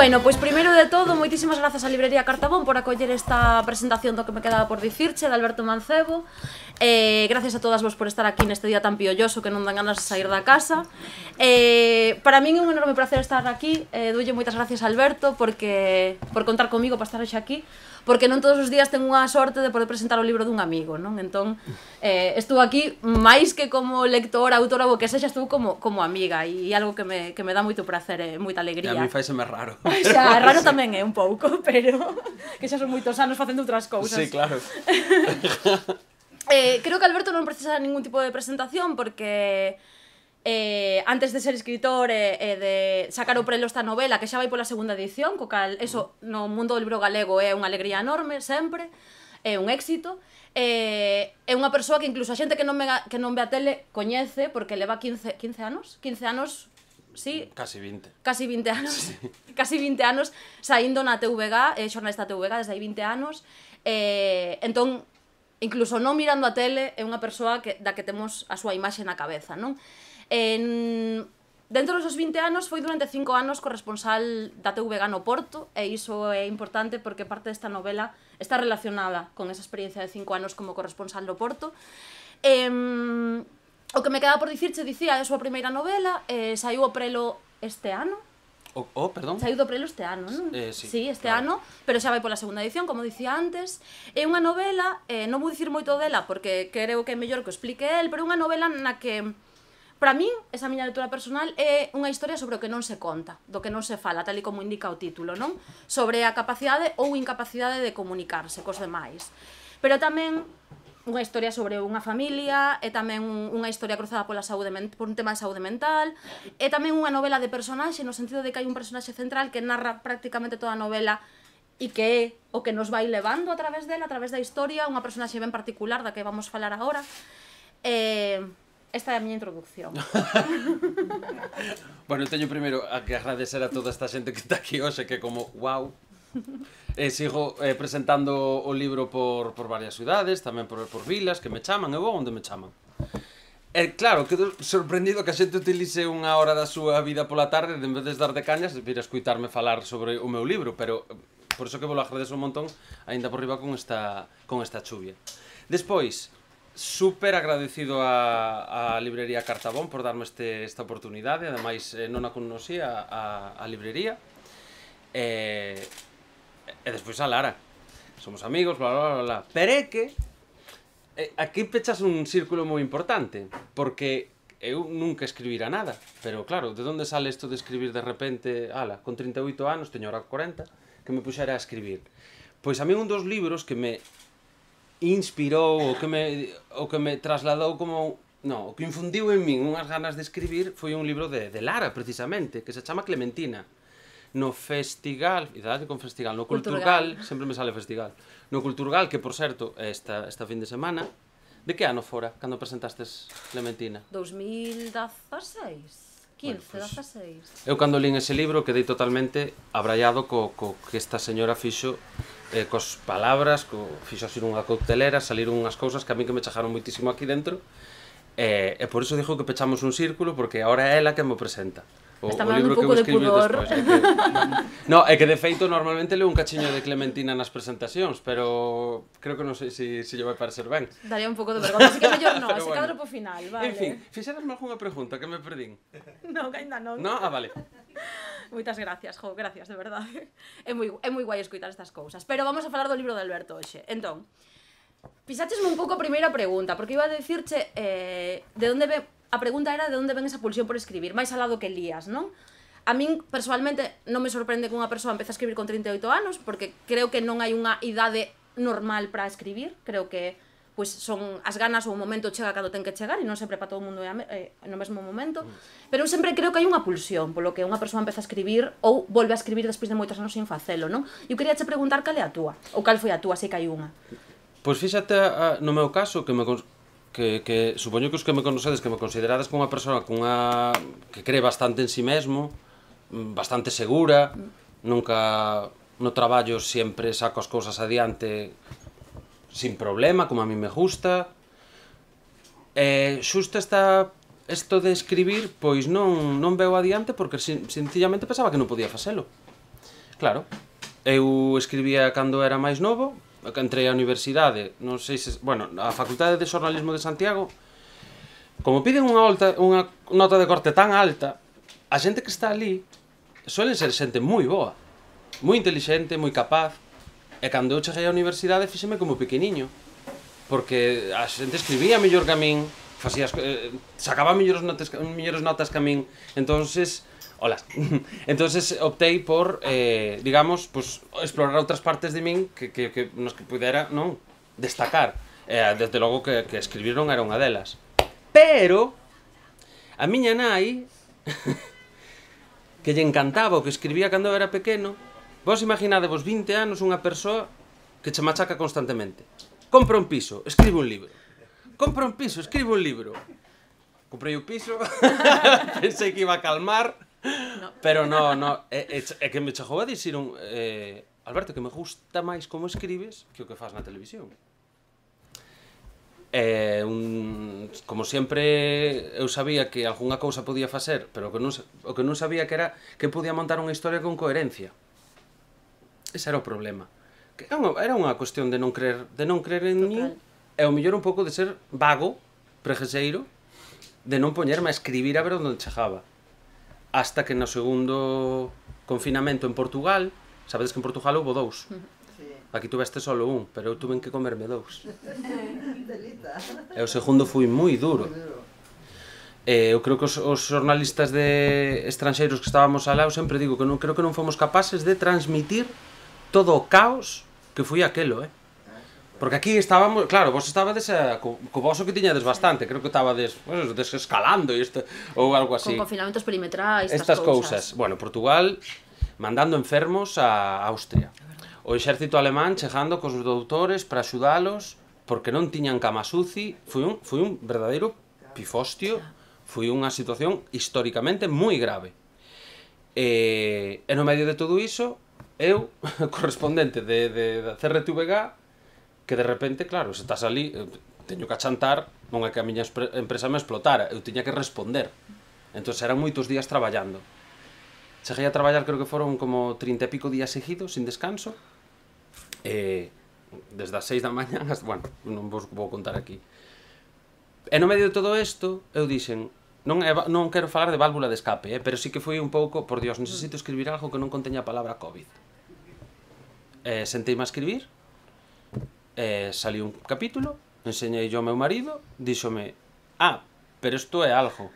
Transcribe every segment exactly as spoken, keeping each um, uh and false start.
Bueno, pois primeiro de todo, moitísimas grazas á Librería Cartabón por acoller esta presentación do que me quedaba por dicirche, de Alberto Mancebo. eh, Gracias a todas vos por estar aquí neste día tan piolloso que non dan ganas de sair da casa. eh, Para min é un enorme placer estar aquí. eh, Doulle moitas gracias a Alberto porque, por contar comigo para estar hoxe aquí, porque non todos os días tengo unha sorte de poder presentar o libro dun amigo, non? Entón, eh, estuvo aquí máis que como lectora, autora ou que sexa, estuvo como, como amiga, e algo que me, que me dá moito prazer e moita alegría. E a mí faiseme raro. O sea, raro tamén é un pouco, pero que xa son moitos anos facendo outras cousas. Sí, claro. eh, creo que Alberto non precisa ningún tipo de presentación porque eh, antes de ser escritor e eh, eh, de sacar o prelo esta novela, que xa vai pola segunda edición, co cal eso no mundo do libro galego é unha alegría enorme, sempre, é un éxito. Eh, é unha persoa que incluso a xente que non, me, que non ve a tele coñece, porque leva quince, quince anos, quince anos, sí, Casi vinte. Casi vinte anos, sí. Casi vinte anos saindo na T V G, é xornalista T V G desde hai vinte anos. eh, Entón, incluso non mirando a tele, é unha persoa que, da que temos a súa imaxe na cabeza, non? En, dentro dos vinte anos foi durante cinco anos corresponsal da T V G no Porto, e iso é importante porque parte desta novela está relacionada con esa experiencia de cinco anos como corresponsal do Porto. E, o que me quedaba por dicirche, dicía, é a súa primeira novela, eh, saiu o prelo este ano. Oh, oh, perdón. Saiu do prelo este ano, non? Eh, sí, sí, este claro. ano, pero xa vai pola segunda edición, como dicía antes. É unha novela, eh, non vou dicir moito dela porque creo que é mellor que o explique el, pero é unha novela na que, para min, esa miña lectura personal, é unha historia sobre o que non se conta, do que non se fala, tal e como indica o título, non? Sobre a capacidade ou incapacidade de comunicarse cos demais. Pero tamén unha historia sobre unha familia, é tamén unha historia cruzada pola saúde, por un tema de saúde mental, é tamén unha novela de personaxe, no sentido de que hai un personaxe central que narra prácticamente toda a novela e que é o que nos vai levando a través dela, a través da historia, unha personaxe ben particular da que vamos falar agora. Eh, esta é a miña introducción. Bueno, teño primeiro a que agradecer a toda esta xente que está aquí hoxe, que como, wow. E sigo eh, presentando o libro por, por varias ciudades, tamén por, por vilas, que me chaman, e vou onde me chaman. E claro, quedo sorprendido que a xente utilice unha hora da súa vida pola tarde, en vez de dar de cañas, vir a escuitarme falar sobre o meu libro, pero por iso que vos lo agradezo un montón, aínda por riba con esta, con esta chuvia. Despois, super agradecido a, a Librería Cartabón por darme este, esta oportunidade, ademais eh, non a conocía a, a librería. E... Eh, E despois a Lara. Somos amigos, bla, bla, bla, bla. Pero é que eh, aquí pechas un círculo moi importante, porque eu nunca escribira nada. Pero claro, de onde sale isto de escribir de repente, ala, con trinta e oito anos, teño ahora corenta, que me puxera a escribir? Pois a mí un dos libros que me inspirou, o que me, o que me trasladou como... No, o que infundiu en min unhas ganas de escribir foi un libro de, de Lara, precisamente, que se chama Clementina. No Festigal, idade con Festigal, no Culturgal, sempre me sale Festigal, no Culturgal, que por certo, esta, esta fin de semana, de que ano fora, cando presentastes Clementina? dos mil dezaseis, quince, bueno, pues, dezaseis. Eu cando lín ese libro quedei totalmente abraiado co, co que esta señora fixo, eh, cos palabras, co, fixo así unha coctelera, saliron unhas cousas que a mí que me chajaron moitísimo aquí dentro, e, e por iso dixo que pechamos un círculo, porque agora é ela que me presenta. O, Está o libro un que pouco eu de escribí pudor. despois. É que... No, é que de feito normalmente leo un cachiño de Clementina nas presentacións, pero creo que non sei se si, si lle vai parecer ben. Daría un pouco de vergonha, así que mellor non, ese bueno. cadro po final, vale. En fin, fixerasme algunha pregunta que me perdín? Non, que ainda non. No? Ah, vale. Moitas gracias, jo, gracias, de verdade. É moi, é moi guai escoitar estas cousas. Pero vamos a falar do libro de Alberto hoxe. Entón, pisátesme un pouco a primeira pregunta, porque iba a dicirche eh, de onde ve... A pregunta era de onde ven esa pulsión por escribir, máis alá do que lías, non? A min, personalmente, non me sorprende que unha persoa empece a escribir con trinta e oito anos, porque creo que non hai unha idade normal para escribir, creo que pois son as ganas ou o momento chega cando ten que chegar, e non sempre para todo o mundo é eh, no mesmo momento, pero eu sempre creo que hai unha pulsión polo que unha persoa empeza a escribir ou volve a escribir despois de moitos anos sin facelo, non? Eu quería che preguntar cal é a túa, ou cal foi a túa, sei que hai unha. Pois fíxate, a, no meu caso, que me... Que, que supoño que os que me conocedes, que me considerades como unha persoa cunha, que cree bastante en si mesmo, bastante segura, nunca no traballo sempre saco as cousas adiante sin problema, como a mí me gusta. E xusto esta, isto de escribir, pois non, non veo adiante porque sencillamente pensaba que non podía facelo. Claro. Eu escribía cando era máis novo, que entrei á universidade, non sei se... Bueno, a Facultade de Xornalismo de Santiago, como piden unha, alta, unha nota de corte tan alta, a xente que está ali suele ser xente moi boa, moi intelixente, moi capaz, e cando eu cheguei á universidade fíxeme como pequeniño, porque a xente escribía mellor que a min, facías, eh, sacaba mellores notas, mellores notas que a min, entonces... Hola. Entonces optei por, eh, digamos, pues, explorar outras partes de min que, que, que nos que pudera, non, destacar. Eh, desde logo que, que escribir non era unha delas. Pero a miña nai que lle encantaba o que escribía cando era pequeno. Vos imaginadevos vinte anos unha persoa que che machaca constantemente. Compra un piso, escribe un libro. Compra un piso, escribe un libro. Comprei o piso, pensei que iba a calmar. No. Pero no, no, é, é, é que me chegou a dicir un eh, Alberto, que me gusta máis como escribes que o que faz na televisión. Eh, un, como sempre eu sabía que algunha cousa podía facer, pero o que non, o que non sabía que era que podía montar unha historia con coherencia. Ese era o problema. Que era, unha, era unha cuestión de non creer, de non creer en mí, e o mellor un pouco de ser vago, pregueseiro, de non poñerme a escribir a ver onde chegaba. Hasta que no segundo confinamento en Portugal, sabedes que en Portugal houve dous. Aquí tuveste solo un, pero eu tuve que comerme dous. E o segundo foi moi duro. Eh, eu creo que os, os xornalistas de estranxeiros que estábamos alá, eu sempre digo que non creo que non fomos capaces de transmitir todo o caos que foi aquelo, eh? Porque aquí estábamos, claro, vos estabades a, co, co voso que tiñades bastante, creo que estabades pues, desescalando e este, ou algo así. Con confinamentos perimetrais, estas, estas cousas. cousas. Bueno, Portugal mandando enfermos a Austria. O exército alemán chegando cos doutores para axudalos porque non tiñan cama suci. Foi un, foi un verdadeiro pifostio, foi unha situación históricamente moi grave. E, e no medio de todo iso, eu, correspondente de, de, de C R T V G, que de repente, claro, se estás ali, teño que achantar, non é que a miña empresa me explotara, eu tiña que responder. Entón eran moitos días traballando. Cheguei a traballar, creo que foron como trinta e pico días seguidos, sin descanso, e desde as seis da mañá, hasta, bueno, non vos vou contar aquí. E no medio de todo isto, eu dixen, non, é, non quero falar de válvula de escape, eh, pero sí que foi un pouco, por Dios, necesito escribir algo que non conteña a palabra COVID. Eh, senteime a escribir, Eh, salí un capítulo, enseñei yo ao meu marido, díxome, ah, pero isto é algo.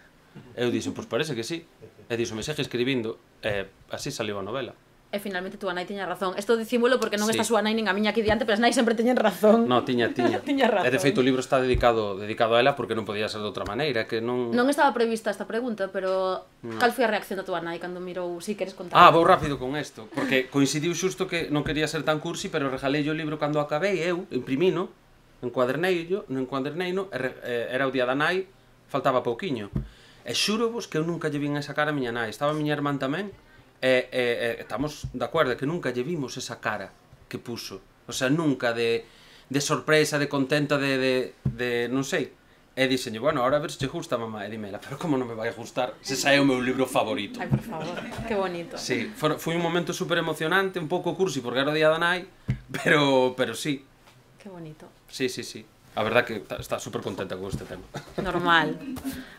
Eu dixen, pois parece que sí. E díxome, segue escribindo. E eh, así saliu a novela. E finalmente túa nai tiña razón. Isto dicímolo porque non sí. Está súa nai nin a miña aquí diante, pero as nai sempre teñen razón. No, tiña, tiña. Tiña razón. E de feito o libro está dedicado dedicado a ela porque non podía ser de outra maneira, que non... Non estaba prevista esta pregunta, pero no. Cal foi a reacción da túa nai cando mirou, si queres contar? Ah, vou rápido con isto, porque coincidiu xusto que non quería ser tan cursi, pero regalei o libro cando acabei, eu, imprimino, encuaderneillo, no encuaderneino, era o día da nai, faltaba pouquiño. E xuro vos que eu nunca lle vin esa cara a miña nai, estaba a miña irmán tamén, E, e, e estamos de acordo que nunca lle vimos esa cara que puso, o sea, nunca de, de sorpresa, de contenta, de, de, de non sei. E dixenlle, bueno, ahora a ver se che gusta, mamá. E dímela, pero como non me vai a gustar se sae o meu libro favorito? Ai, por favor, que bonito. Sí, foi un momento super emocionante, un pouco cursi porque era o día da nai, pero, pero sí. Que bonito. Sí, sí, sí. A verdad que está super contenta con este tema. Normal.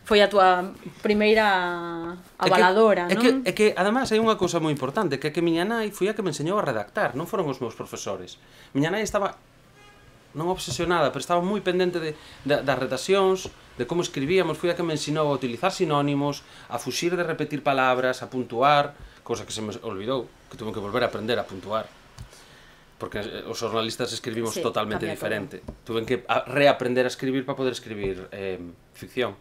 Foi a túa primeira avaladora, é que, non? É que, é que, además, hai unha cousa moi importante, que é que miña nai foi a que me enseñou a redactar, non foron os meus profesores. Miña nai estaba, non obsesionada, pero estaba moi pendente de, de, das redaccións, de como escribíamos, foi a que me ensinou a utilizar sinónimos, a fuxir de repetir palabras, a puntuar, cousa que se me olvidou, que tuve que volver a aprender a puntuar. Porque os xornalistas escribimos sí, totalmente diferente. Todo. Tuve que reaprender a escribir para poder escribir eh, ficción.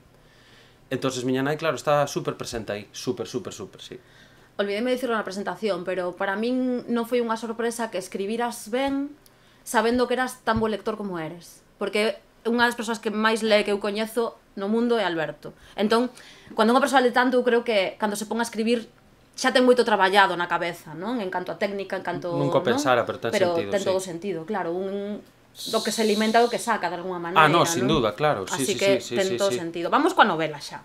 Entonces miña nai, claro, está super presente aí, super, super, super, sí. Olvidéme dicirlo na presentación, pero para min non foi unha sorpresa que escribiras ben sabendo que eras tan bo lector como eres. Porque unha das persoas que máis lee que eu coñezo no mundo é Alberto. Entón, cando unha persoa lee tanto, eu creo que cando se pon a escribir xa ten moito traballado na cabeza, non? En canto a técnica, en canto... Nunca pensara, pero ten pero sentido, ten sí. todo sentido, claro, un... do que se alimenta do que saca, de alguma maneira, Ah, no, sin non? duda, claro, sí, así sí, que sí, ten sí, todo sí. sentido. Vamos coa novela xa.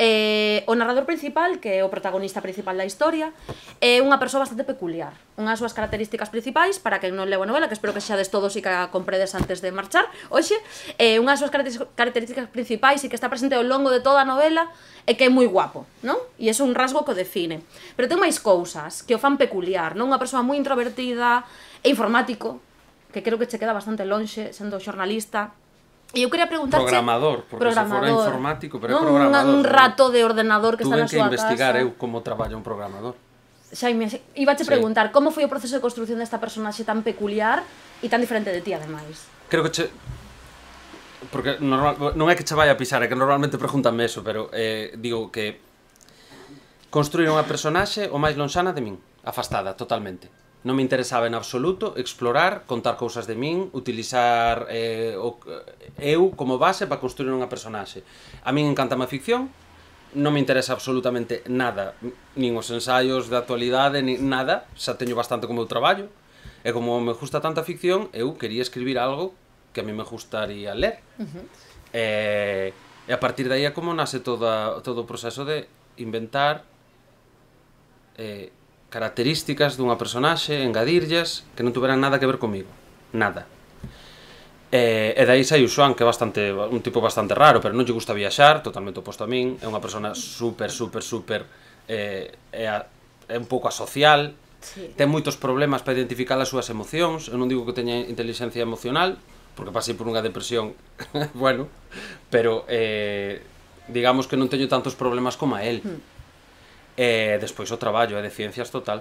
Eh, o narrador principal, que é o protagonista principal da historia, é unha persoa bastante peculiar. Unhas súas características principais, para que non leo a novela, que espero que xades todos e que a compredes antes de marchar hoxe, eh, unhas súas características principais e que está presente ao longo de toda a novela é que é moi guapo, non? E é un rasgo que o define. Pero ten máis cousas que o fan peculiar, non? Unha persoa moi introvertida e informático, que creo que che queda bastante lonxe sendo xornalista. E eu quería preguntarche... Programador, porque programador, se fora informático, pero é non? programador. Un rato de ordenador que está na súa casa. Tuve súa que investigar casa. eu como traballa un programador. Xaime, iba te Sí. preguntar, como foi o proceso de construción desta personaxe tan peculiar e tan diferente de ti, ademais? Creo que che... Porque normal... non é que che vai a pisar, é que normalmente pregúntame eso, pero eh, digo que construir unha personaxe o máis lonxana de min, afastada totalmente. Non me interesaba en absoluto explorar, contar cousas de min, utilizar eh, o, eu como base para construir unha personaxe. A min encanta a ficción, non me interesa absolutamente nada, nin os ensaios de actualidade, nin nada, xa teño bastante como eu traballo, e como me gusta tanta ficción, eu quería escribir algo que a mí me gustaría ler. Uh-huh. e, e a partir de aí é como nace toda, todo o proceso de inventar eh, características dunha personaxe, engadirllas, que non tuveran nada que ver comigo. Nada. E, e daí sai o Xoan, que é bastante, un tipo bastante raro, pero non lle gusta viaxar, totalmente oposto a min, é unha persona super, super, super, eh, é, a, é un pouco asocial, sí. Ten moitos problemas para identificar as súas emocións, eu non digo que teña inteligencia emocional, porque pasei por unha depresión, bueno, pero eh, digamos que non teño tantos problemas como a él. Mm. E despois o traballo é de ciencias total.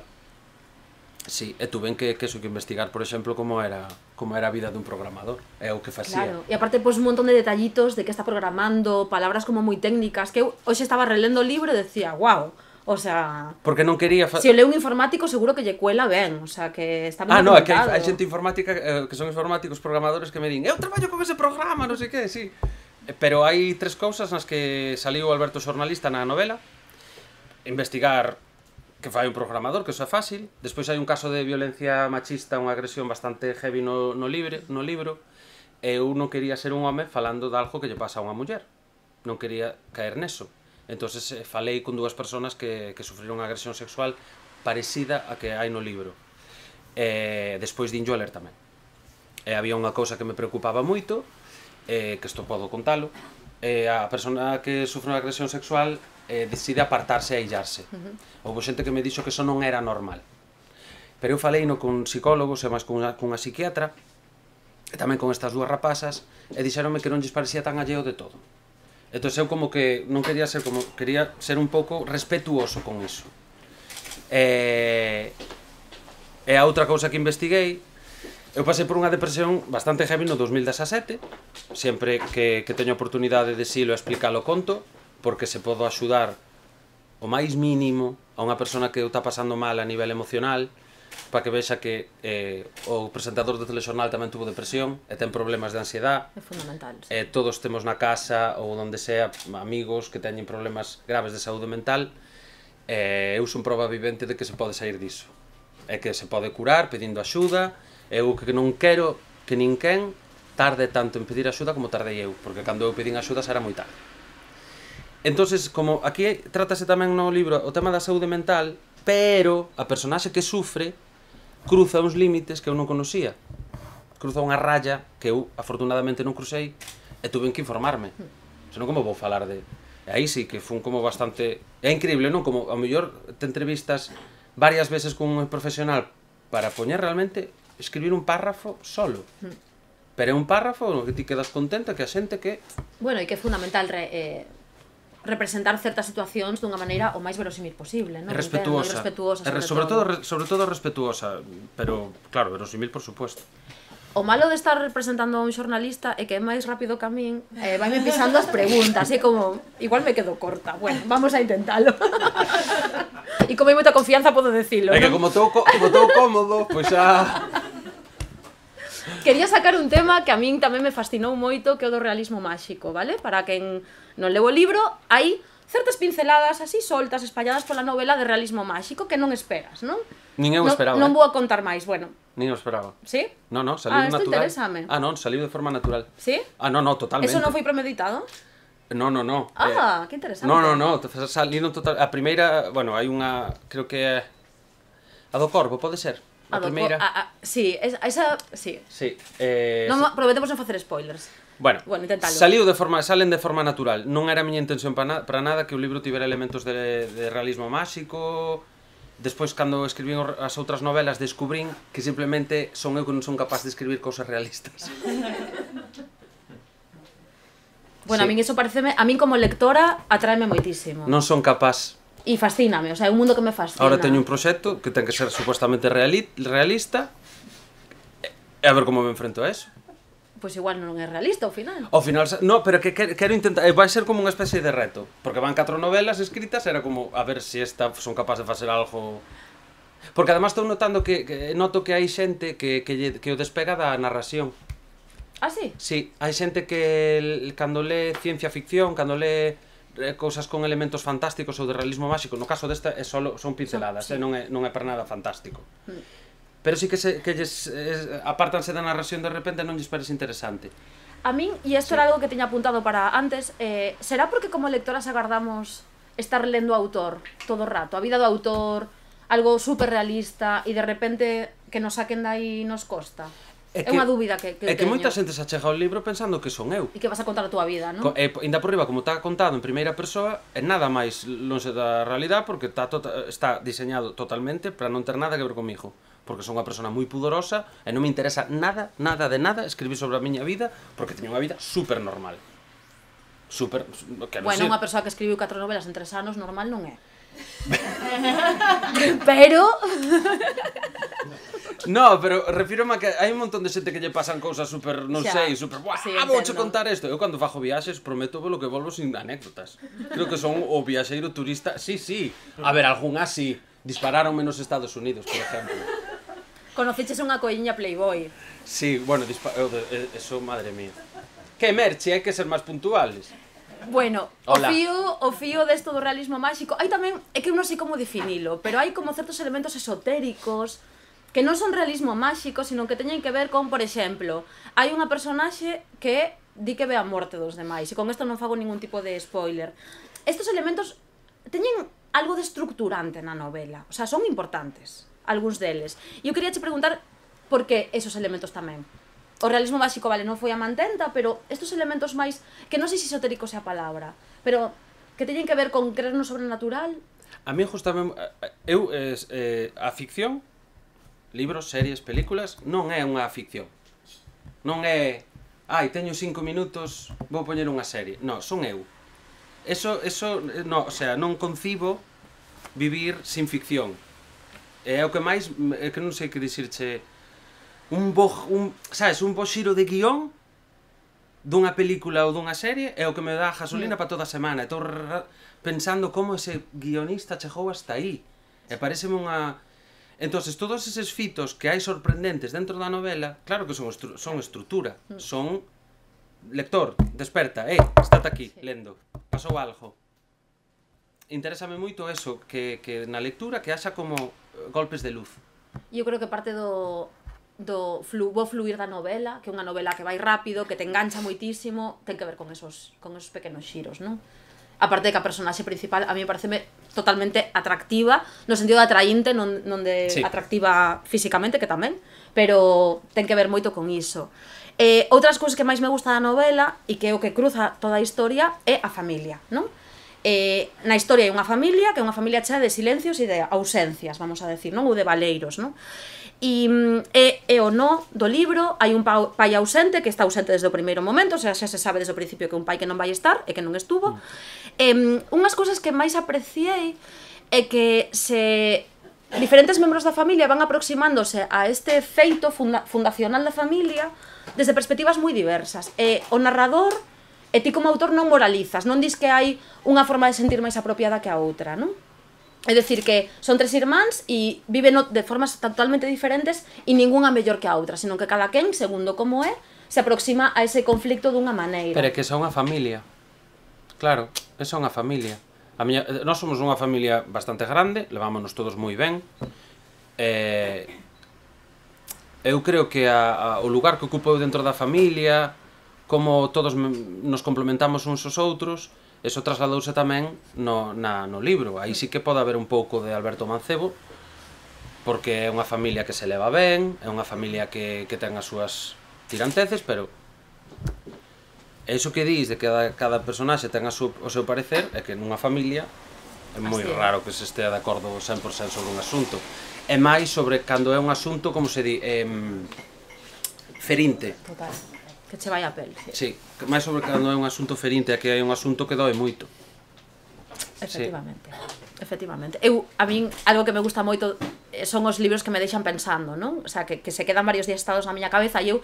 Sí, e tuven que, que, que investigar, por exemplo, como era como era a vida dun programador, é o que facía. Claro, e aparte, pois, un montón de detallitos de que está programando, palabras como moi técnicas, que eu hoxe estaba relendo o libro e decía, wow, o sea... Porque non quería... Se o leu un informático, seguro que lle cuela ben, o sea, que está ben ah, no, é que hai, documentado. hai xente informática, eh, que son informáticos programadores que me din, eu traballo con ese programa, non sei que, sí. Pero hai tres cousas nas que saliu Alberto xornalista na novela. Investigar que fai un programador, que iso é fácil. Despois hai un caso de violencia machista, unha agresión bastante heavy no, no, libre, no libro. E eu non quería ser un home falando de algo que lle pasa a unha muller. Non quería caer neso. Entonces eh, falei con dúas persoas que, que sufriron unha agresión sexual parecida a que hai no libro. E despois dinllo a ler tamén. E había unha cousa que me preocupaba moito, eh, que isto podo contalo. E a persona que sufre unha agresión sexual eh, decide apartarse e aillarse. Uh-huh. Houve xente que me dixo que eso non era normal. Pero eu falei no con psicólogos e máis cunha, cunha psiquiatra, e tamén con estas dúas rapazas, e dixeronme que non lles parecía tan alleo de todo. Entón eu como que non quería ser como, quería ser un pouco respetuoso con iso. E, e a outra cousa que investiguei, eu pasei por unha depresión bastante heavy no dos mil dezasete, sempre que, que teño oportunidade de silo a explicarlo conto, porque se podo axudar o máis mínimo a unha persona que o está pasando mal a nivel emocional, para que vexa que eh, o presentador do telexornal tamén tuvo depresión e ten problemas de ansiedade. É fundamental. Sí. E todos temos na casa ou onde sea amigos que teñen problemas graves de saúde mental, e eu son prova vivente de que se pode sair diso. E que se pode curar pedindo axuda. Eu que non quero que ninguén tarde tanto en pedir axuda como tardei eu, porque cando eu pedín axuda era moi tarde. Entonces, como aquí trátase tamén no libro o tema da saúde mental, pero a personaxe que sufre cruza uns límites que eu non conocía. Cruza unha raya que eu afortunadamente non crucei e tuve que informarme. Senón como vou falar de... E aí sí que fun como bastante... É increíble, non? Como ao mellor te entrevistas varias veces con un profesional para poñer realmente escribir un párrafo solo. Pero é un párrafo no que ti quedas contenta que a xente que... Bueno, e que é fundamental re, eh, representar certas situacións dunha maneira o máis verosímil posible, non? Respetuosa. Respetuosa, sobre, sobre todo. todo. Sobre todo respetuosa, pero, claro, verosímil por supuesto. O malo de estar representando a un xornalista é que é máis rápido que a min, eh, vaime pisando as preguntas, e como, igual me quedo corta. Bueno, vamos a intentalo. E como hai moita confianza podo decilo, É que non? como estou cómodo, pois xa... Quería sacar un tema que a min tamén me fascinou moito, que é o do realismo máxico, vale? Para quen non leu o libro, hai certas pinceladas así soltas, espalladas pola novela de realismo máxico que non esperas, non? Nin eu non, esperaba. Non eh? vou a contar máis, bueno. Nin eu esperaba. Sí? No, no, saliu ah, natural. interésame. Ah, non, saliu de forma natural. Sí? Ah, no, no, totalmente. Eso non foi premeditado? No, no, no. Ah, eh, que interesante. No, no, no, salindo total... A primeira, bueno, hai unha, creo que é... A do Corvo, pode ser? A, A do primeira... co- a- a- sí, esa, esa sí. Sí. Eh, Non ma- prometemos non facer spoilers. Bueno, Bueno, intentalo. saliu de forma, salen de forma natural. Non era a miña intención para, na, para nada que o libro tivera elementos de, de realismo máxico. Despois, cando escribín as outras novelas, descubrín que simplemente son eu que non son capaz de escribir cousas realistas. Bueno, Sí. a min iso pareceme, a min como lectora atraeme moitísimo. Non son capaz. E fascíname, o sea, é un mundo que me fascina. Ahora teño un proxecto que ten que ser supuestamente reali realista e a ver como me enfrento a eso. Pois igual non é realista ao final. Ao final, no, pero que quero, quero intentar, vai ser como unha especie de reto, porque van catro novelas escritas, era como a ver se si esta son capaz de facer algo. Porque además estou notando que, que noto que hai xente que, que, lle- que o despega da narración. Ah, sí? Sí, hai xente que el- cando lee ciencia ficción, cando lee eh, cousas con elementos fantásticos ou de realismo máxico, no caso desta é solo, son pinceladas, Sí. eh, non, é, non é para nada fantástico. Mm. Pero sí que, se, que lles, eh, apártanse da narración de repente non lles parece interesante. A min, e isto Sí. era algo que teña apuntado para antes, eh, será porque como lectoras agardamos estar lendo o autor todo o rato, a vida do autor, algo super realista, e de repente que nos saquen dai nos costa? É, que- unha dúbida que, que É que teño. moita xente se achega ao libro pensando que son eu. E que vas a contar a túa vida, non? Co- E, ainda por riba, como está contado en primeira persoa, é nada máis lonxe da realidade porque está, tota, está diseñado totalmente para non ter nada que ver comigo. Porque son unha persona moi pudorosa e non me interesa nada, nada de nada escribir sobre a miña vida porque teño unha vida super normal. Super... Que non Bueno, sei. unha persoa que escribiu catro novelas en tres anos normal non é. Pero... No, pero refírome a que hai un montón de xente que lle pasan cousas super, non Xa. sei, super, buah, Sí, vouche entendo. contar isto. Eu cando fajo viaxes prometo lo que volvo sin anécdotas. Creo que son o viaxeiro turista, sí, sí. A ver, algún así dispararon menos Estados Unidos, por exemplo. Conociches unha coiña Playboy. Sí, bueno, dispa eu de- eh, eso, madre mía. Que merche, hai que ser máis puntuales. Bueno, Hola. o fío, o fío desto do realismo máxico, hai tamén, é que eu non sei como definilo, pero hai como certos elementos esotéricos que non son realismo máxico, sino que teñen que ver con, por exemplo, hai unha personaxe que di que ve a morte dos demais, e con isto non fago ningún tipo de spoiler. Estos elementos teñen algo de estructurante na novela, o sea, son importantes, algúns deles. E eu queria che preguntar por que esos elementos tamén. O realismo máxico, vale, non foi a mantenta, pero estos elementos máis, que non sei se esotérico sea a palabra, pero que teñen que ver con creer no sobrenatural. A mí justamente, eu, eh, eh, a ficción, libros, series, películas, non é unha ficción. Non é, ai, teño cinco minutos, vou poñer unha serie. Non, son eu. Eso, eso, eh, no, o sea, non concibo vivir sin ficción. E é o que máis, é que non sei que dicirche, un bo, un, sabes, un bo xiro de guión dunha película ou dunha serie é o que me dá gasolina para toda a semana. Estou pensando como ese guionista chegou hasta aí. E pareceme unha... Entonces, todos eses fitos que hai sorprendentes dentro da novela, claro que son, estru son estrutura, son... Lector, desperta, eh, estate aquí, lendo, pasou algo. Interésame moito eso, que, que na lectura que haxa como golpes de luz. E eu creo que parte do, do flu, bo fluir da novela, que é unha novela que vai rápido, que te engancha moitísimo, ten que ver con esos, con esos pequenos xiros, non? Aparte de que a personaxe principal a mí me pareceme totalmente atractiva, no sentido de atraínte, non, non de Sí. atractiva físicamente, que tamén, pero ten que ver moito con iso. Eh, outras cousas que máis me gusta da novela e que é o que cruza toda a historia é a familia, non? Eh, na historia hai unha familia, que é unha familia chea de silencios e de ausencias, vamos a decir, non? Ou de valeiros, non? E mm, é, é o no do libro, hai un pau, pai ausente, que está ausente desde o primeiro momento, o sea, xa se sabe desde o principio que é un pai que non vai estar e que non estuvo. Mm. Eh, unhas cousas que máis apreciei é que se diferentes membros da familia van aproximándose a este feito funda fundacional da familia desde perspectivas moi diversas. E o narrador, e ti como autor non moralizas, non dis que hai unha forma de sentir máis apropiada que a outra, non? É dicir que son tres irmáns e viven de formas totalmente diferentes e ningunha mellor que a outra, senón que cada quen, segundo como é, se aproxima a ese conflicto dunha maneira. Pero é que esa é unha familia. Claro, esa é unha familia. A miña, nós somos unha familia bastante grande, levámonos todos moi ben. Eh, eu creo que a, a, o lugar que ocupo eu dentro da familia, como todos nos complementamos uns aos outros, eso trasladouse tamén no, na, no libro. Aí sí que pode haber un pouco de Alberto Mancebo, porque é unha familia que se leva ben, é unha familia que, que ten as súas tiranteces, pero eso que dis de que cada, cada personaxe ten a su, o seu parecer é que nunha familia é moi raro que se estea de acordo cen por cento sobre un asunto. É máis sobre cando é un asunto, como se di, eh, ferinte. Total, que che vai a pel. Sí, máis sobre cando é un asunto ferinte, é que hai un asunto que doe moito. Efectivamente, sí. Efectivamente. Eu, a min, algo que me gusta moito son os libros que me deixan pensando, non? O sea, que, que se quedan varios días estados na miña cabeza e eu,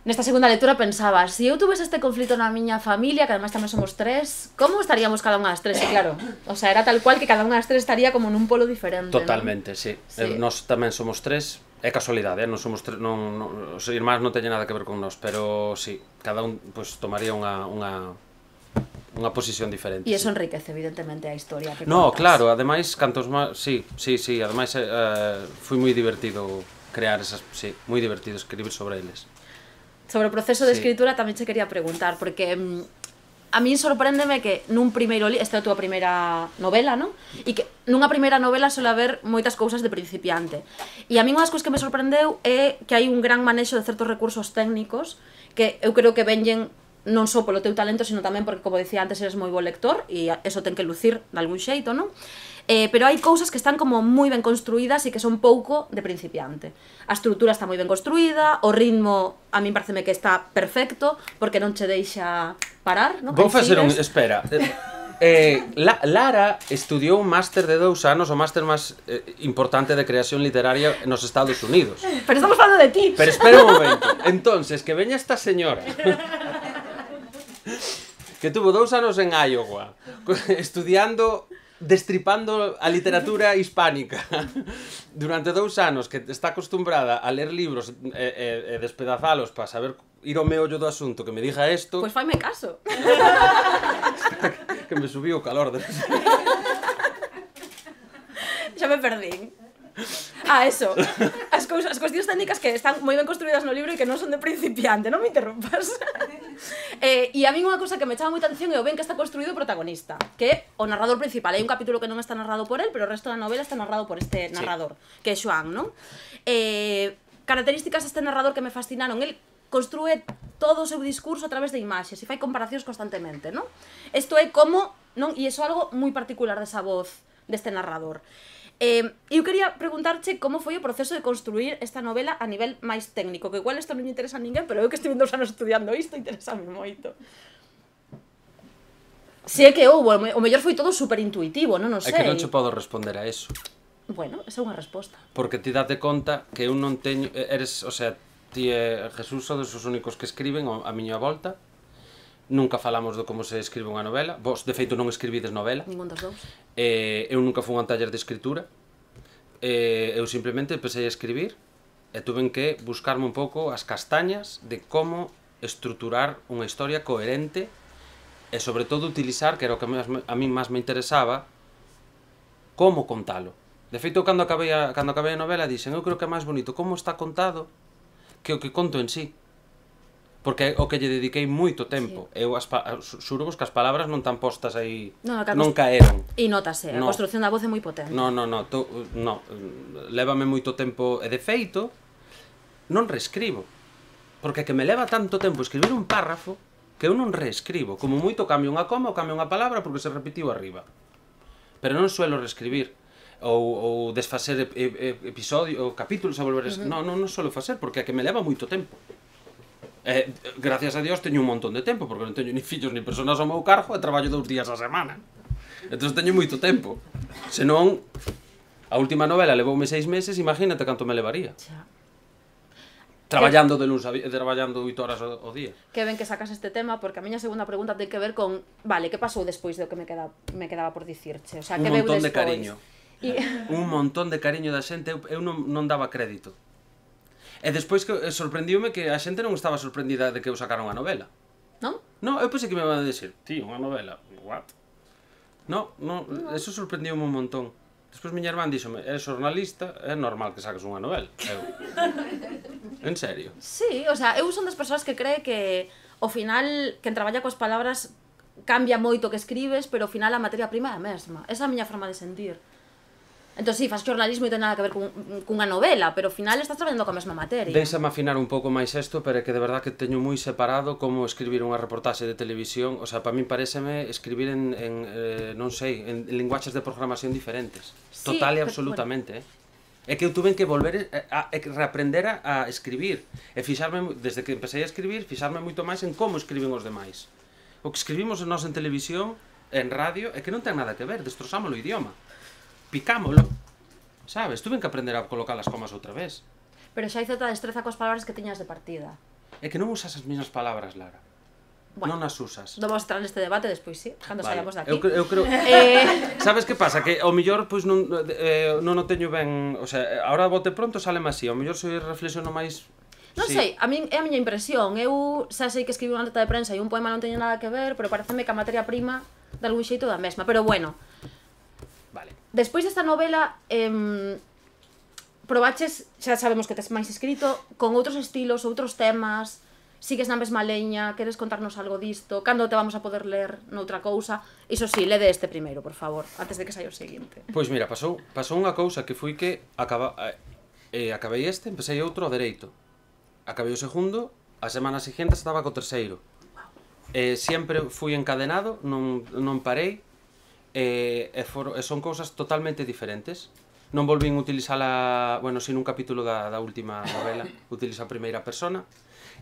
nesta segunda lectura, pensaba, se si eu tuvese este conflito na miña familia, que además tamén somos tres, como estaríamos cada unha das tres? E claro, o sea, era tal cual que cada unha das tres estaría como nun polo diferente. Totalmente, ¿no? sí. Sí. Eh, Nós tamén somos tres, é casualidade, eh? Non somos tres, non, non, os irmáns non teñen nada que ver con nós, pero sí, cada un pues, tomaría unha, unha, unha posición diferente. E eso sí. enriquece, evidentemente, a historia que No, contas. claro, ademais, cantos máis, sí, sí, sí, ademais eh, foi moi divertido crear esas, sí, moi divertido escribir sobre eles. Sobre o proceso de Sí. escritura tamén che quería preguntar, porque mm, a min sorpréndeme que nun primeiro libro, esta é a túa primeira novela, non? E que nunha primeira novela suele haber moitas cousas de principiante. E a min unha das cousas que me sorprendeu é que hai un gran manexo de certos recursos técnicos que eu creo que venllen non só polo teu talento, sino tamén porque, como dicía antes, eres moi bo lector e eso ten que lucir de algún xeito, non? Eh, pero hai cousas que están como moi ben construídas e que son pouco de principiante. A estrutura está moi ben construída, o ritmo a min pareceme que está perfecto, porque non che deixa parar, non? Vou facer un... Sigues. Espera. Eh, La, Lara estudiou un máster de dous anos, o máster máis eh, importante de creación literaria nos Estados Unidos. Pero estamos falando de ti. Pero espera un momento. Entonces, que veña esta señora que tuvo dous anos en Iowa estudiando, destripando a literatura hispánica durante dous anos, que está acostumbrada a ler libros e, e, e despedazalos para saber ir ao meollo do asunto, que me diga isto, Pois pues faime caso. que me subiu o calor de... Xa me perdín. Ah, eso. As, cousas, as cuestións técnicas que están moi ben construídas no libro e que non son de principiante, non me interrompas. eh, e a mí unha cousa que me chama moita atención é o ben que está construído o protagonista, que é o narrador principal. Hai un capítulo que non está narrado por él, pero o resto da novela está narrado por este narrador, sí, que é Xoán, non? Eh, características deste narrador que me fascinaron. El construe todo o seu discurso a través de imaxes e fai comparacións constantemente, non? Isto é como, non? E iso é algo moi particular desa voz deste narrador. Eh, eu quería preguntarche como foi o proceso de construir esta novela a nivel máis técnico, que igual isto non me interesa a ninguén, pero eu que estive dous anos estudiando isto, interésame moito. Si é que houbo, o mellor foi todo super intuitivo, non, non sei. É que non che podo responder a eso. Bueno, esa é unha resposta. Porque ti date conta que eu non teño... Eres, o sea, ti e Jesús sodes os únicos que escriben a miña volta. Nunca falamos de como se escribe unha novela. Vos, de feito, non escribides novela. Ningún dos dous. Eh, eu nunca fui a un taller de escritura. Eh, eu simplemente empecé a escribir e tuven que buscarme un pouco as castañas de como estruturar unha historia coherente e, sobre todo, utilizar, que era o que a mí máis me interesaba, como contalo. De feito, cando acabei a, cando acabei a novela, dixen, eu creo que é máis bonito como está contado que o que conto en sí. Porque é o que lle dediquei moito tempo. Sí. Eu as xurvos que as palabras non tan postas aí, no, non caeron. E notase, a no. construcción da voz é moi potente. No, no, no, to, no, lévame moito tempo, e de feito, non reescribo. Porque que me leva tanto tempo escribir un párrafo que eu non reescribo. Como moito cambio unha coma ou cambio unha palabra porque se repetiu arriba. Pero non suelo reescribir. Ou, ou desfacer episodio, ou capítulos a volver a... Uh -huh. Non, non, non suelo facer porque é que me leva moito tempo. Eh, gracias a Dios teño un montón de tempo, porque non teño ni fillos ni personas ao meu cargo e traballo dous días a semana. Entón teño moito tempo. Senón, a última novela levoume seis meses, imagínate canto me levaría. Xa. Traballando de luns a vi... traballando oito horas ao, ao día. Que ben que sacas este tema, porque a miña segunda pregunta ten que ver con, vale, que pasou despois do que me quedaba, me quedaba por dicirche? O sea, un que veu montón despois? de cariño. Y... un montón de cariño da xente, eu, eu non, non daba crédito. E despois que sorprendiume que a xente non estaba sorprendida de que eu sacara unha novela. Non? Non, eu pensei que me iban a decir, ti, unha novela, what? No, no, eso sorprendiume un montón. Despois miña irmán díxome, eres xornalista, é normal que saques unha novela. Eu, en serio? Sí, o sea, eu son das persoas que cree que ao final, quen traballa coas palabras cambia moito que escribes, pero ao final a materia prima é a mesma. Esa é a miña forma de sentir. Entón, si, faz xornalismo e ten nada que ver cun, cunha novela, pero ao final estás traballando coa mesma materia. Déixame afinar un pouco máis isto, pero é que de verdad que teño moi separado como escribir unha reportaxe de televisión. O sea, para min pareceme escribir en, en eh, non sei, en linguaxes de programación diferentes. Sí, Total e pero, absolutamente, bueno. eh. É que eu tuve que volver a, a, a reaprender a, a escribir. E fixarme, desde que empecé a escribir, fixarme moito máis en como escriben os demais. O que escribimos nós en televisión, en radio, é que non ten nada que ver, destrozámolo o idioma. Picámolo, sabes? Tuve que aprender a colocar as comas outra vez. Pero xa hai certa destreza coas palabras que tiñas de partida. É que non usas as mesmas palabras, Lara. Bueno, non as usas. Non vamos a entrar neste debate despois, sí, cando Vale. saíamos daqui. Eu, cre- eu creo... Eh... Sabes que pasa? Que ao mellor pois non, eh, non o teño ben... O sea, ahora bote pronto sale así. Ao mellor se reflexiono máis... Non sí. sei, a min é a miña impresión. Eu xa sei que escribir unha nota de prensa e un poema non teño nada que ver, pero pareceme que a materia prima de algún xeito da mesma. Pero bueno, Vale. despois desta novela, eh, probaches, xa sabemos que tes máis escrito, con outros estilos, outros temas, sigues na mesma leña, queres contarnos algo disto, cando te vamos a poder ler noutra cousa? Iso sí, lede este primeiro, por favor, antes de que saia o seguinte. Pois mira, pasou, pasou unha cousa que foi que acaba, eh, acabei este, empecé outro ao dereito. Acabei o segundo, a semana seguinte estaba co terceiro. Eh, sempre fui encadenado, non, non parei, eh, e, for, e son cousas totalmente diferentes. Non volvín utilizala, bueno, sin un capítulo da, da última novela, utilizo a primeira persona,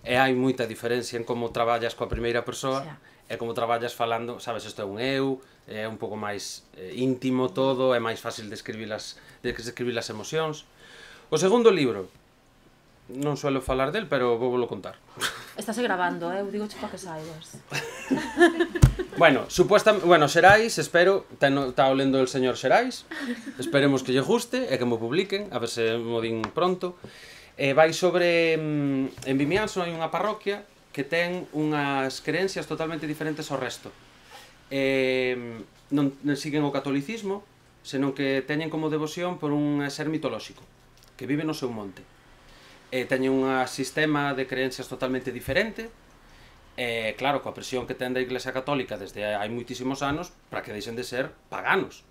e hai moita diferencia en como traballas coa primeira persoa e como traballas falando, sabes, isto é un eu, é un pouco máis eh, íntimo todo, é máis fácil de escribir as, de escribir as emocións. O segundo libro, non suelo falar del, pero vou volo contar. Estás grabando, eh? Eu digo para que saibas. Bueno, supuesta, bueno, Xerais, espero, está olendo el señor Xerais, esperemos que lle guste e que mo publiquen, a ver se mo din pronto. Eh, vai sobre, en Vimianzo hai unha parroquia que ten unhas creencias totalmente diferentes ao resto. Eh, non, non siguen o catolicismo, senón que teñen como devoción por un ser mitolóxico, que vive no seu monte. Eh, teñen un sistema de creencias totalmente diferente, e, claro, coa presión que ten da Iglesia Católica desde hai moitísimos anos para que deixen de ser paganos.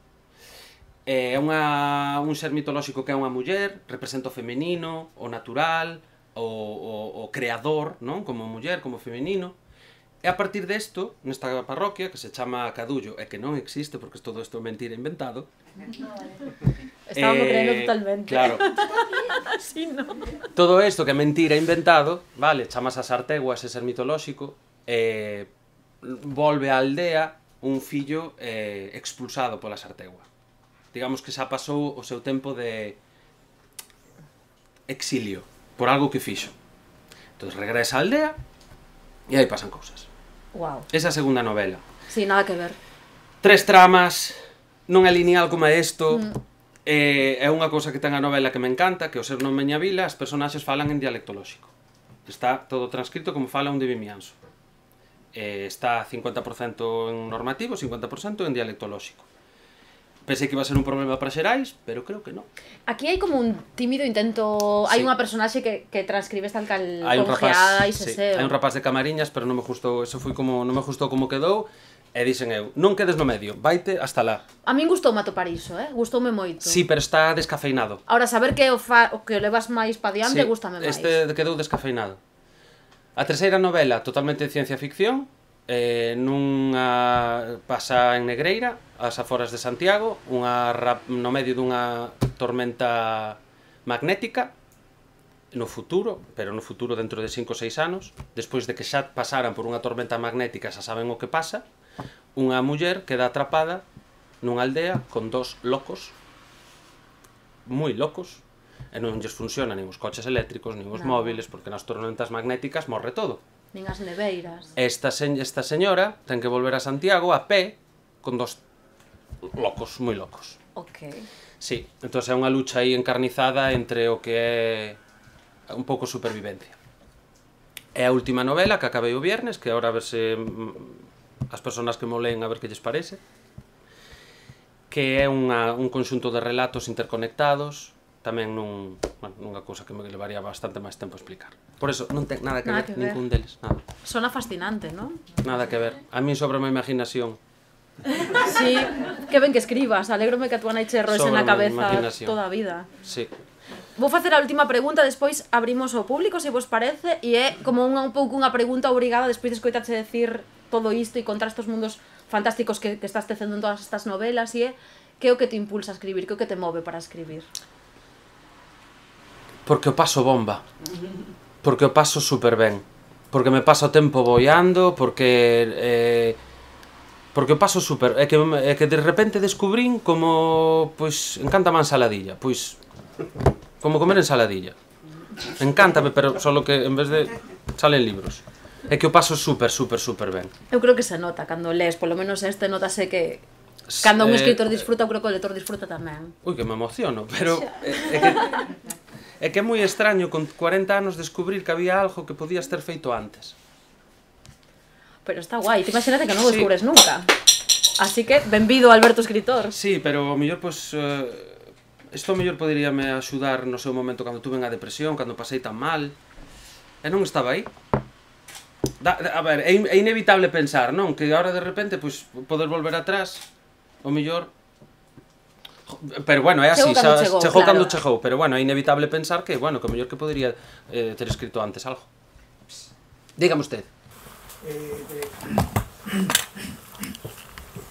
É unha, un ser mitolóxico que é unha muller, representa o femenino, o natural, o, o, o creador, non? Como muller, como femenino. E a partir desto, nesta parroquia, que se chama Cadullo, e que non existe porque todo isto é mentira inventado. Estábamos eh, creendo totalmente. Claro. Sí, no. Todo isto que é mentira inventado, vale, chamas a Sartegua, ese ser mitolóxico, e volve á aldea un fillo eh, expulsado pola Sartegua. Digamos que xa pasou o seu tempo de exilio por algo que fixo. Entón regresa á aldea e aí pasan cousas. Wow. Esa é a segunda novela. Sí, nada que ver. Tres tramas, non é lineal como é isto. Mm. Eh, é unha cousa que ten a novela que me encanta, que ao ser non Meña Vila, as personaxes falan en dialecto lóxico. Está todo transcrito como fala un de Vimianzo. Eh, está cincuenta por cento en normativo, cincuenta por cento en dialecto lóxico. Pensei que iba a ser un problema para Xerais, pero creo que non. Aquí hai como un tímido intento... Sí. Hai unha personaxe que, que transcribes tal cal Hai un rapaz, congeada e sí, seseo. hai un rapaz de Camariñas, pero non me gustou, eso foi como, non me gustou como quedou, e dixen eu, non quedes no medio, vaite hasta lá. A min gustoume atopar iso, eh? Gustoume moito. Sí, pero está descafeinado. Ahora, saber que o, fa... o que o levas máis pa diante, Sí, gustame máis. este quedou descafeinado. A terceira novela, totalmente de ciencia ficción, eh, nunha pasa en Negreira, ás aforas de Santiago, unha rap... no medio dunha tormenta magnética, no futuro, pero no futuro dentro de cinco ou seis anos, despois de que xa pasaran por unha tormenta magnética, xa saben o que pasa, unha muller queda atrapada nunha aldea con dos locos, moi locos, e non lles funcionan nin os coches eléctricos, nin os No. móviles, porque nas tormentas magnéticas morre todo. Nin as neveiras. Esta, se... esta señora ten que volver a Santiago a pé con dos locos, moi locos. Ok. Sí, entón é unha lucha aí encarnizada entre o que é un pouco supervivencia. É a última novela que acabei o viernes, que agora a ver se mm, as persoas que mo leen a ver que lles parece, que é unha, un conxunto de relatos interconectados tamén nun, bueno, nunha cousa que me levaría bastante máis tempo a explicar. Por eso, non ten nada que Nada ver, que ver. ningún deles, nada. Sona fascinante, non? Nada que ver. A mí sobra a imaginación. Sí, que ben que escribas, alégrome que a túa nai che roese na Sóbrame cabeza imaginación. toda a vida. Sí. Vou facer a última pregunta, despois abrimos ao público, se vos parece, e é como unha, un pouco unha pregunta obrigada despois de escoitache decir todo isto e contra estes mundos fantásticos que, que estás tecendo en todas estas novelas, e é que é o que te impulsa a escribir, que é o que te move para escribir? Porque o paso bomba. Porque o paso super ben. Porque me paso o tempo boiando, porque... Eh, porque o paso super... É que, é que de repente descubrín como... Pois, encántame a ensaladilla. Pois, como comer ensaladilla. Encántame, pero solo que en vez de... Salen libros. É que o paso super, super, super ben. Eu creo que se nota cando lees, polo menos este notase que... Cando un escritor disfruta, eu creo que o lector disfruta tamén. Ui, que me emociono, pero... É, é que... É que é moi extraño con cuarenta anos descubrir que había algo que podías ter feito antes. Pero está guai, te imagínate que non o Sí. descubres nunca. Así que, benvido Alberto escritor. Sí, pero o mellor, pois... Eh, isto o mellor poderíame axudar no seu momento cando tuve a depresión, cando pasei tan mal. E non estaba aí. Da, a ver, é, in, é inevitable pensar, non? Que agora de repente, pois, poder volver atrás, o mellor... Pero bueno, é así, Chegou cando xa, chegou, chegou claro. cando chegou, pero bueno, é inevitable pensar que, bueno, que o mellor que podería eh, ter escrito antes algo. Dígame usted. Eh, de,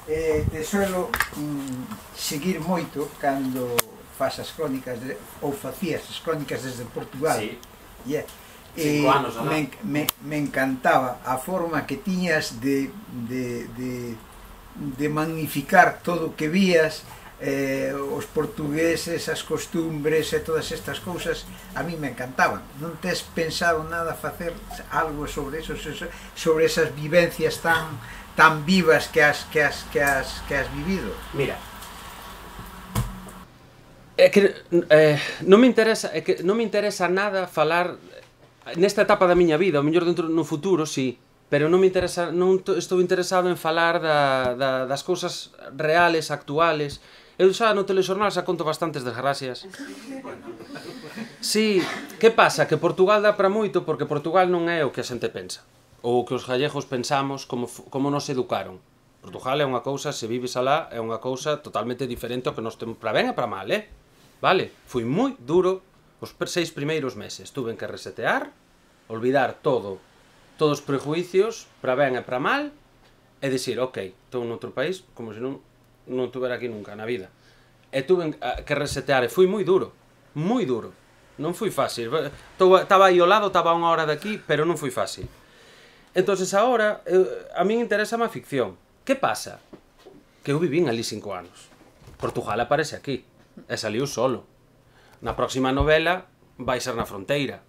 eh, te suelo mm, seguir moito cando fas as crónicas de, ou facías as crónicas desde Portugal. Sí. Yeah. Cinco Eh, anos, ¿no? me, me, me encantaba a forma que tiñas de, de, de, de magnificar todo o que vías, eh, os portugueses, as costumbres e todas estas cousas, a mí me encantaban. Non tes pensado nada facer algo sobre eso, sobre esas vivencias tan tan vivas que has que has que has que has vivido? Mira. É que eh, non me interesa, é que non me interesa nada falar nesta etapa da miña vida, o mellor dentro no futuro, sí, pero non me interesa, non estou interesado en falar da, da, das cousas reales, actuales. Eu xa no telexornal xa conto bastantes desgracias. Sí, que pasa? Que Portugal dá para moito porque Portugal non é o que a xente pensa, ou o que os gallegos pensamos como, como nos educaron. Portugal é unha cousa, se vives alá, é unha cousa totalmente diferente ao que nos temos, para ben e para mal, eh? Vale? Fui moi duro os seis primeiros meses. Tuve que resetear, olvidar todo, todos os prejuicios, para ben e para mal, e dicir, ok, estou noutro país, como se non, non tuvera aquí nunca na vida. E tuve que resetear, e fui moi duro, moi duro. Non foi fácil. Estaba aí ao lado, estaba a unha hora de aquí, pero non foi fácil. Entonces agora, eu, a min interesa a ficción. Que pasa? Que eu vivín ali cinco anos. Portugal aparece aquí. E saliu solo. Na próxima novela vai ser na fronteira.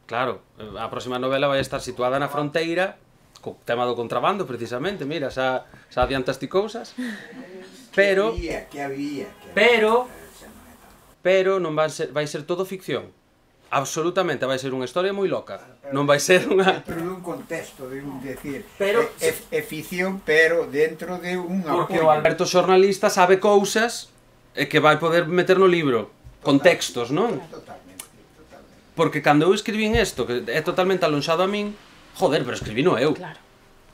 Claro, a próxima novela vai estar situada na fronteira, co tema do contrabando, precisamente, mira, xa, xa adiantaste cousas. Pero, Que había, que había, que había. pero, pero non vai ser, vai ser todo ficción. Absolutamente, vai ser unha historia moi loca. Non vai ser unha... Dentro dun contexto, de un decir, Pero- é, é, é ficción, pero dentro de un Porque apoio. o Alberto xornalista sabe cousas e que vai poder meter no libro. Contextos, non? Totalmente, totalmente. Porque cando eu escribín isto, que é totalmente alonxado a min, joder, pero escribino eu. Claro.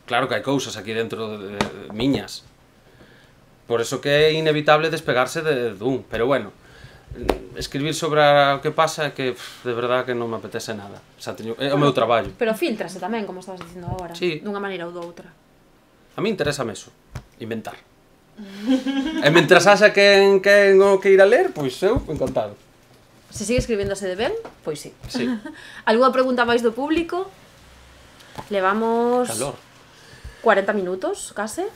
Claro que hai cousas aquí dentro de, de, de miñas. Por eso que é inevitable despegarse de dun. Pero bueno, escribir sobre o que pasa é que, pff, de verdad, que non me apetece nada. Xa teño, é o meu traballo. Pero filtrase tamén, como estabas dicindo agora, Sí. dunha maneira ou doutra. A mí interésame eso, inventar. E mentras haxa quen, quen o que ir a ler, pois eu, encantado. Se sigue escribéndose de ben, pois sí. Sí. Alguna pregunta máis do público? Levamos Calor. cuarenta minutos, case.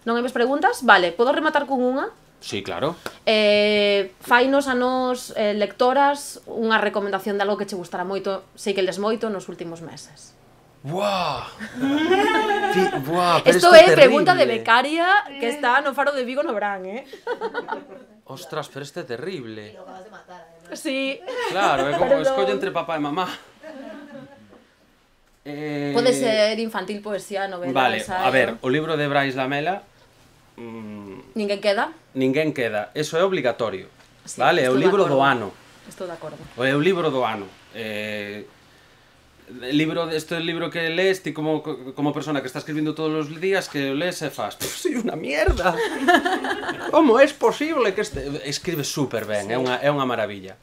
Non hai máis preguntas? Vale, podo rematar con unha? Sí, claro. Eh, fainos a nos, eh, lectoras, unha recomendación de algo que che gustará moito, sei que les moito nos últimos meses. Buah. Ti, buah, pero Isto isto é terrible. pregunta de becaria que está no Faro de Vigo no verán, eh? Ostras, pero este é terrible. Lo acabas de matar, además. Sí. Claro, é como Perdón. escolle entre papá e mamá. Eh... Pode ser infantil, poesía, novela, Vale, ensaio. a ver, o libro de Brais Lamela mm, Ninguén queda. ninguén queda. Eso é obligatorio. Sí, Vale, é o estou de libro do acordo. ano. Estou de acordo. É o libro do ano. Eh, el libro, este libro que lees, ti como, como persona que está escribindo todos os días, que o lees e fas, pues soy unha mierda. Como é posible que este... Escribe super ben, sí. é, unha, é unha maravilla.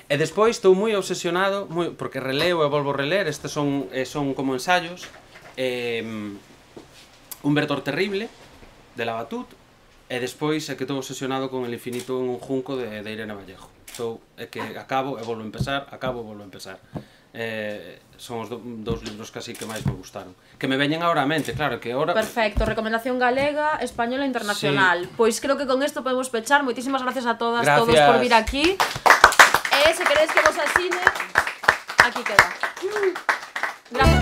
E despois estou moi obsesionado, moi, porque releo e volvo a reler, estes son, eh, son como ensayos, eh, Un verdor terrible, de Labatut, e despois é que estou obsesionado con El infinito en un junco, de, de Irene Vallejo. Estou, é que acabo e volvo a empezar, acabo e volvo a empezar. Eh, son os do, dos libros casi que máis me gustaron. Que me veñen agora a mente, claro, que ahora... Perfecto, recomendación galega, española e internacional. Sí. Pois creo que con isto podemos pechar. Moitísimas gracias a todas, gracias. Todos por vir aquí. E se queréis que vos asine, aquí queda. Gracias.